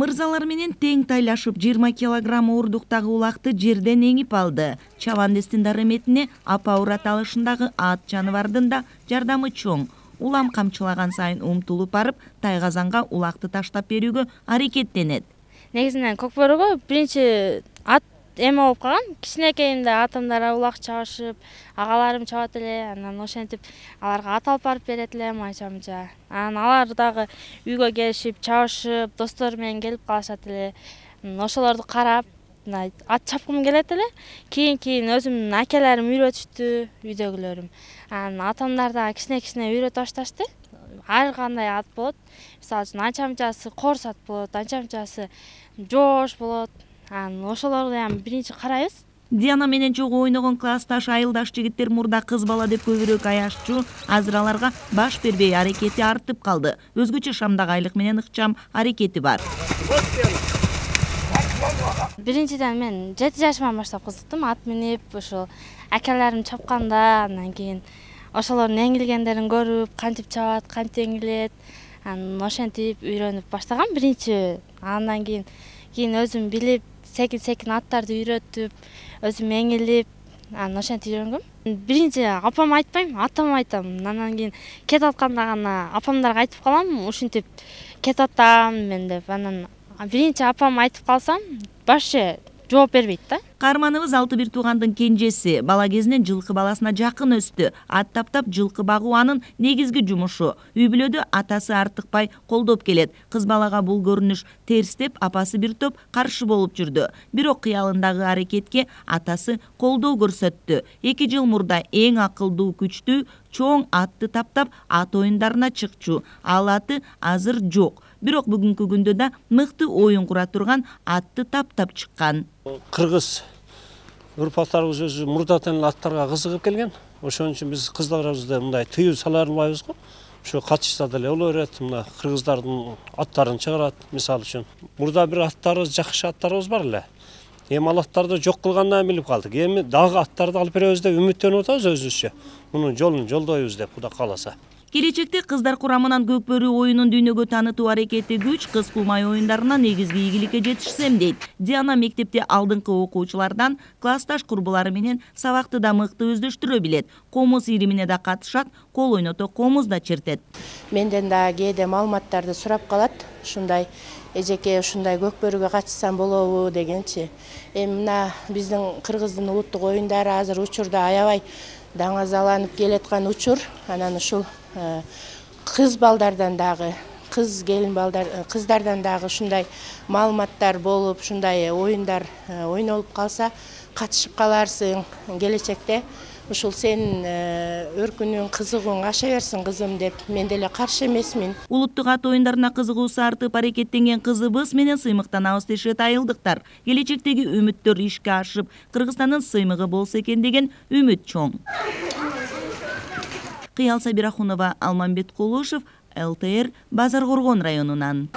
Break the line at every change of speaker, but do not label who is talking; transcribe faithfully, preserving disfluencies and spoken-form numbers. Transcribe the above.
Мырзалар менен тең тайлашып жыйырма килограмм ордуктагы улакты жерден эңип алды. Чабандестин дарыметине апа урат алышындагы ат жаныбардын да жардамы чоң. Улам камчылаган сайын умтулуп барып, тайгазанга улакты таштап берүүгө аракеттенет.
Негизинен Көкбөрүгө биринчи ат эме болуп калган. Кичинекейимде атымдар улак чабышып, агаларым чабат эле. Анан ошентип аларга ат алып барып берет элем айча-мынча. Анан алар дагы үйгө келишип, чабышып, достору менен келип калышат эле. Ошолорду карап, ат чапкым келет эле. Кийин-кийин өзүмдүн акелерим үйрөтүштү, үйдөгүлөрүм. Анан атамдар да кичине-кичине үйрөтүп башташты. Ар кандай ат болот. Мисалы үчүн анча-мынчасы корс ат болот, анча-мынчасы жоош болот. Анан ошолорду эми биринчи карайбыз.
Диана менен чогуу ойногон классташ айылдаш жигиттер мурда кыз бала деп көбүрөөк аяшчу, азыр аларга баш бербей аракети артып калды. Өзгөчө шамдагайлык менен ыкчам аракети бар.
Биринчиден мен жети жашыман баштап кызыктым. Ат минип, ошол акелерим чапканда, андан кийин ошолордун эңилгендерин көрүп, кантип чабат, кантип эңилет, анан ошентип үйрөнүп баштагам биринчи. Андан кийин кийин өзүм билип, секин-секин аттарды үйрөтүп, өзүм эңилип, анан ошентип үйрөнгөм. Биринчи апама айтпайм, атама айтам. Андан кийин кетип атканда гана апамдарга айтып калам, ушинтип кетип атам мен деп. Анан биринчи апама айтып калсам, башчы жооп бербейт да.
Каарманыбыз алты бир туугандын кенжеси. Бала кезинен жылкы баласына жакын өстү. Ат таптап жылкы багуу анын негизги жумушу. Үй бүлөдө атасы артыкпай колдоп келет. Кыз балага бул көрүнүш терс деп апасы бир топ каршы болуп жүрдү. Бирок кыялындагы аракетке атасы колдоо көрсөттү. эки жыл мурда эң акылдуу, күчтүү, чоң атты таптап ат оюндарына чыкчу. Ал аты азыр жок. Бирок бүгүнкү күндө да мыкты оюн кура турган атты таптап чыккан.
Кыргыз урпактарыбыз өзү мурдатан эле аттарга кызыгып келген. Ошон үчүн биз кыздарыбызды мындай тыюу сала албайбыз го. Ошо катышса деле боло берет. Мына кыргыздардын аттарын чыгарат, мисалы үчүн. Мурда бир аттарыбыз, жакшы аттарыбыз бар эле. Эми ал аттарды жок кылгандан билип калдык. Эми дагы аттарды алып беребиз деп үмүттөнүп атабыз өзүбүзчө. Мунун жолун жолдойбуз деп Кудай кааласа.
Келечекте кыздар курамынан Көкбөрү оюнун дүйнөгө таанытуу аракети күч, кыз кулмай оюндарына негизги ийгиликке жетишсем дейт. Диана мектепте алдыңкы окуучулардан классташ курбулары менен сабакты да мыкты өздөштүрө билет. Комуз иримине да катышат, кол ойното комуз да чертет.
Менден да кээде маалыматтарды сурап калат. Ушундай эжеке ушундай Көкбөрүгө катышсам болобу дегенчи. Эми мына биздин Кыргыздын улуттук оюндары азыр учурда аябай даңазаланып келаткан учур. Анан ушул кыз балдардан дагы, кыз келин балдар, кыздардан дагы ушундай маалыматтар болуп, ушундай оюндар ойнолуп калса, катышып каларсың. Келечекте ушул сенин өркүнүң, кызыгууң аша берсин кызым деп мен деле каршы эмесмин.
Улуттук ат оюндарына кызыгуусу артып аракеттенген кызыбыз менен сыймыктанабыз дешет айылдыктар. Келечектеги үмүттөр ишке ашып, Кыргызстандын сыймыгы болсо экен деген үмүт чоң. Кыял Сабирахунова, Алмамбет Кулушев, эл тэ эр, Базар Коргон районунан.